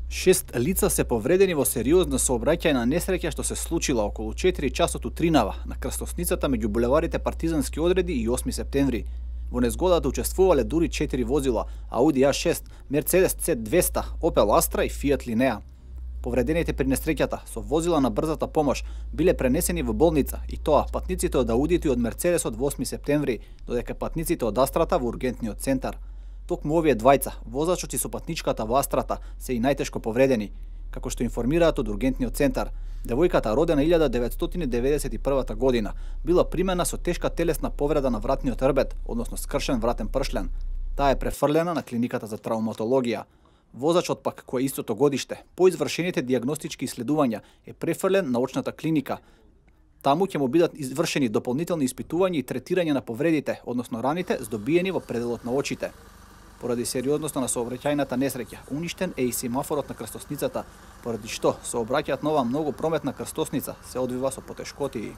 6 лица се повредени во сериозна сообраќајна несреќа што се случила околу 4 часот утринава на крстосницата меѓу булеварите Партизански одреди и 8 септември. Во незгодата учествувале дури 4 возила: Ауди А6, Мерцедес C200, Опел Астра и Фијат Линеа. Повредените при несреќата со возила на брзата помош биле пренесени во болница, и тоа патниците од Аудито и од Мерцедесот во 8 септември, додека патниците од Астрата во ургентниот центар. Токму овие двајца, возачот и сопатничката во Астрата, се и најтешко повредени. Како што информираат од ургентниот центар, девојката родена 1991 година била примена со тешка телесна повреда на вратниот рбет, односно скршен вратен пршлен. Таа е префрлена на клиниката за травматологија. Возачот пак, кој е истото годиште, по извршените дијагностички иследувања е префрлен на очната клиника. Таму ќе му бидат извршени дополнителни испитувања и третирање на повредите, односно раните здобиени во пределот на очите. Поради сериозноста на сообраќајната несреќа, уништен е и семафорот на крстосницата, поради што сообраќајот на оваа многу прометна крстосница се одвива со потешкотии.